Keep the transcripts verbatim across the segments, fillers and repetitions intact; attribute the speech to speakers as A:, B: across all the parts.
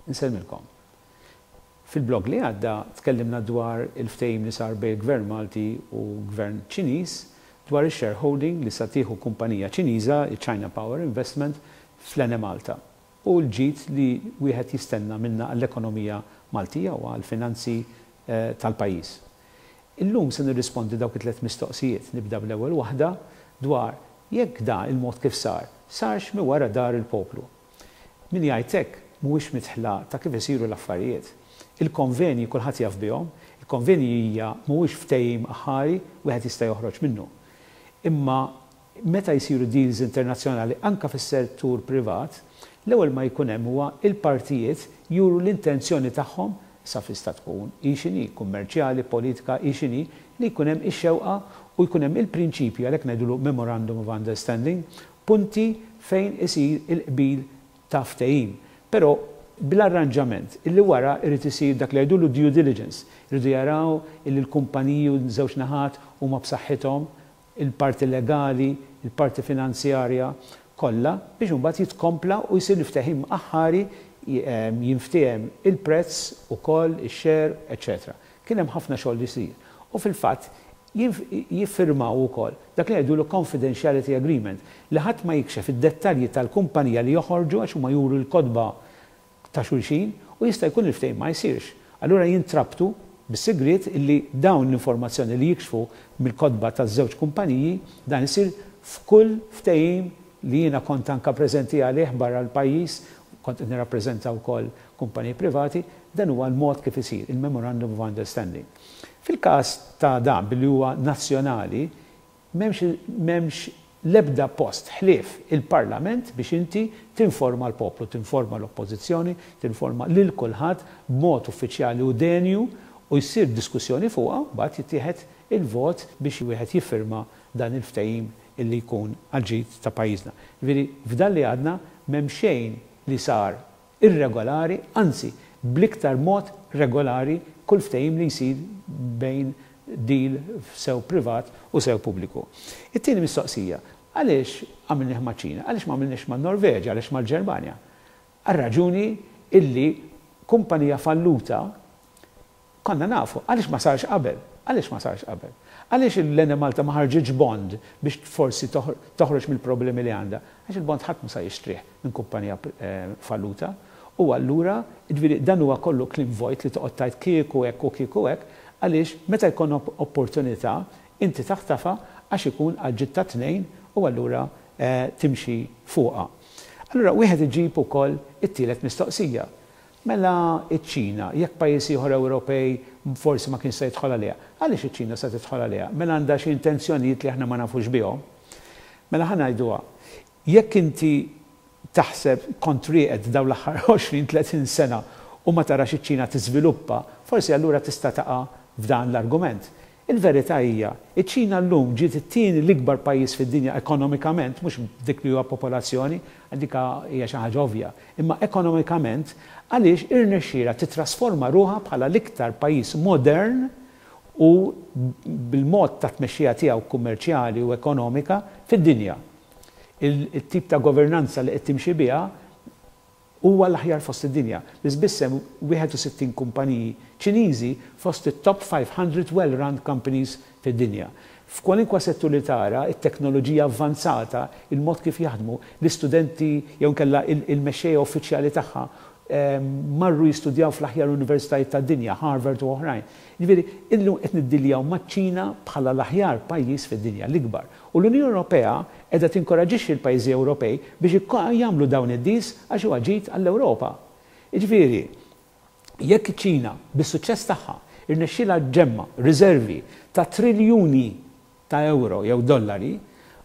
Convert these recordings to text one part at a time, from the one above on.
A: Insellmilkom. Fil-blog li għadda tkellimna dwar il-ftehim li sar bejn Gvern Malti u Gvern Ċiniż dwar il-shareholding li sa tieħu kumpanija Ċiniża, il-China Power Investment, fl-Enemalta u l-ġid li wieħed jistenna minna għall-ekonomija Maltija u għall-finanzi eh, tal-pajjiż. Illum se nirrispondi dawk it-tliet mistoqsijiet. Nibda bl-ewwel waħda dwar jekk da il-mod kif sar, sarx mi wara dahar il-poplu. Min jgħid hekk mhuwiex midħla ta' kif isiru l-affarijiet. Il-konvenji kulħadd jaf bihom, il-konvenji hija mhuwiex ftehim aħari, wieħed jista' joħroġ minnu. Imma meta jsiru deals internazzjonali anka fis-settur privat, l-ewwel ma jkun hemm huwa il-partijiet juru l-intenzjoni tagħhom, sa tista' tkun hi x'inhi, kummerċjali, politika, hi x'inhi, li jkun hemm ix-xewqa u jkun hemm il-prinċipju, għalhekk ngħidulu memorandum of understanding, punti fejn isir il-qbil ta' ftehim. Però bl-arranġament illi wara irid isir dak li jgħidulu due diligence, iridu jaraw illi l-kumpaniji u żewġ naħat huma b'saħħithom, il-parti legali, il-parti finanzjarja, kollha, biex imbagħad jitkompla u jsir il-ftehim aħħari, jinftiehem il-prezz ukoll, ix-share, eċċetera. Kien hemm ħafna xogħol li jsir. U fil-fatt jiffirmaw ukoll dak li jgħidulu confidentiality agreement, li ħadd ma jikxef id-dettalji tal-kumpanija li joħorġu, għax huma juru l-kotba ta' xulxin u jista' jkun il-ftehim ma jsirx. Allura jintrabtu bis-sigriet illi dawn l-informazzjoni li jikxfu mill-kotba taż-żewġ kumpaniji. Dan isir f'kull ftehim li jiena kont anka preżenti għalih barra l-pajjiż, kont nirrappreżenta wkoll kumpaniji privati, dan huwa l-mod kif isir il-Memorandum of Understanding. Fil-każ ta' dan, billi huwa nazzjonali, m'hemmx l-ebda post ħlief il-Parlament biex inti tinforma l-poplu, tinforma l-oppożizzjoni, tinforma lil kulħadd b'mod uffiċjali u denju, u jsir diskussjoni fuqha, mbagħad jittieħed il-vot biex wieħed jiffirma dan il-ftehim illi jkun għal-ġid ta' pajjiżna. Ġifieri f'dan li għadna m'hemm xejn li sar irregolari, anzi bl-iktar mod regolari kull ftehim li jsir bejn deal sew privat u sew pubbliku. It-tieni mistoqsija, għaliex għamilnieh ma' Ċina, għaliex ma għamilniex ma' Norveġa, għaliex ma' Ġermanja? Għar-raġuni illi kumpanija falluta konna nafu, għaliex ma sarx qabel? Għaliex ma sarx qabel? Għaliex l-Enemalta ma ħarġitx bond biex forsi toħroġ mill-problemi li għandha? Għax il-bond ħadd ma sa jixtrih minn kumpanija eh, falluta. U allura, ġifieri dan huwa kollu kliem vojt li toqgħod tgħid kieku hekk u kieku hekk, għaliex meta jkun opportunità inti taħtafa għax ikun għal ta' tnejn u allura eh, timxi fuqha. Allura wieħed iġib ukoll it-tielet mistoqsija. Mela iċ-Ċina, jekk pajjiż ieħor Ewropej forsi ma kien se jidħol għaliha, għaliex iċ-Ċina se tidħol għaliha? Mela għandha xi intenzjonijiet li aħna ma nafux bihom? Mela ħa ngħiduha, jekk inti taħseb kont rieqed dawn l-aħħar għoxrin tletin sena u ma tarax iċ-Ċina tiżviluppa, forsi allura tista' taqa' f'dan l-argument. Il-verità hija, iċ-Ċina llum ġiet it-tieni l-ikbar pajjiż fid-dinja ekonomikament, mhux dik li huwa popolazzjoni, dik hija xi ħaġa ovvja, imma ekonomikament, għaliex irnexxielha titrasforma ruħha bħala l-iktar pajjiż modern u bil-mod ta' tmexxija tiegħu kummerċjali u ekonomika fid-dinja. Il-tip ta' governanza li qed timxi biha huwa l-aħjar fost id-dinja. Biss biss hemm wieħed u sittin kumpaniji Ċiniżi fost it-top five hundred well-run companies fid-dinja. F'kwalinkwa settur li tara, it-teknoloġija avvanzata, il-mod kif jaħdmu, l-istudenti jew kella il-mexxejja uffiċjali tagħha marru jistudjaw fl-aħjar universitajiet tad-dinja, Harvard u oħrajn. Ġifieri, illum qed niddiljaw maċ-Ċina bħala l-aħjar pajjiż fid-dinja, l-ikbar. U l-Unjoni Ewropea qiegħda tinkoraġixxi l-pajjiżi Ewropej biex jagħmlu dawn id-deals għax huwa ġid għall-Ewropa. Ġifieri, jekk iċ-Ċina bis-suċċess tagħha irnexxielha ġġemma' riservi ta' triljuni ta' euro jew dollari,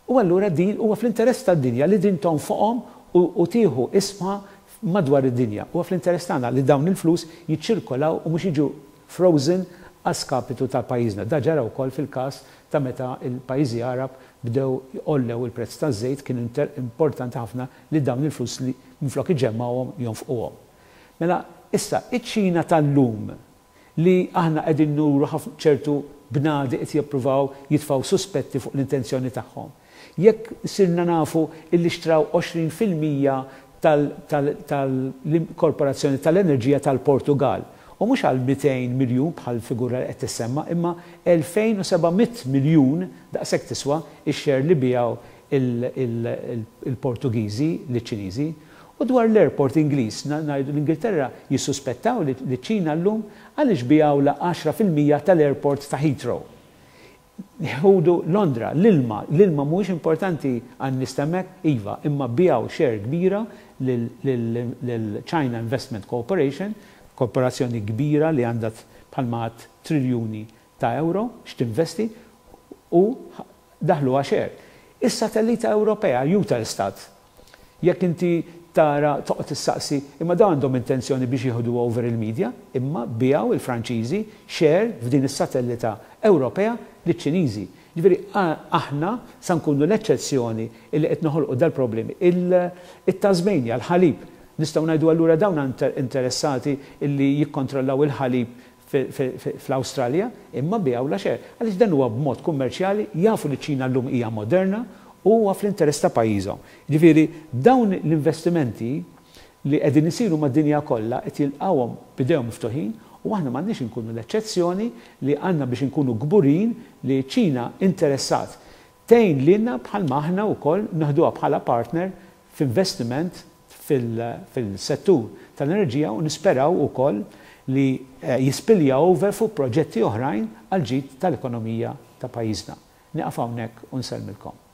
A: u allura din huwa fl-interess tad-dinja li din tonfoqhom u tieħu isma madwar id-dinja. Huwa fl-interess tagħna li dawn il-flus jiċċirkolaw u mhux jiġu frozen għas-skapitu ta' pajjiżna. Da ġara wkoll fil-każ ta' meta il-pajjiżi Arab bdew jgħollew il-prezz taż-żejt, kien importanti ħafna li dawn il-flus li minflok iġemmgħuhom jonfquhom. Mela issa iċ-Ċina tal-lum li aħna qegħdin nuru ħafna ċertu bnadi qed jippruvaw jitfgħu suspetti fuq l-intenzjoni tagħhom. Jekk sirna nafu illi xtraw għoxrin fil-mija tal-Korporazzjoni tal-Enerġija tal-Portugal. U mhux għal mitejn miljun bħal figura li qed tissemma, imma elfejn u seba' mitt miljun daqshekk tiswa x-share li bijaw il-Portugiżi liċ-Ċiniżi. U dwar l-airport Ingliż, ngħidu l-Ingilterra jissuspettaw li ċ-Ċina llum għaliex bijaw la għaxra fil-mija tal-airport ta' Heathrow. Ħudu Londra, l-ilma, l-ilma mhuwiex importanti għan-nies t'hemmhekk, iva, imma bijaw share kbira lil-China Investment Corporation, korporazzjoni kbira li għandha bħalma għad triljuni ta' euro x'tinvesti, u daħluha share. Is-satellita Ewropea, Eutelsat, jekk inti tara toqgħod tissaqsi, imma dawn għandhom intenzjoni biex jieħdu over il-media, imma bijaw il-Franċiżi share f'din is-satellita Ewropea liċ-Ċiniżi. Ġifieri aħna sa nkunu l-eċċezzjoni li qed noħolqu dal-problemi. Il-Tasmania, l-ħalib, nistgħu ngħidu allura dawn interessati illi jikkontrollaw il-ħalib fl-Awstralja, imma bijaw la share. Għaliex dan huwa b'mod kummerċjali, jafu li ċ-Ċina llum hija moderna u huwa fl-interess ta' pajjiżhom. Ġifieri dawn l-investimenti li qegħdin isiru mad-dinja kollha qed jilqgħuhom b'idejhom miftuħin, u aħna m'għandniex inkunu l-eċċezzjoni li għandna biex inkunu kburin li ċ-Ċina interessat tgħin lilna bħalma aħna wkoll naħduha bħala partner f'investiment fil-settur tal-enerġija, u nisperaw ukoll li, eh, jispilja over fuq proġetti oħrajn għal ġid tal-ekonomija ta' pajjiżna. Nieqaf hawnhekk u nsellmilkom.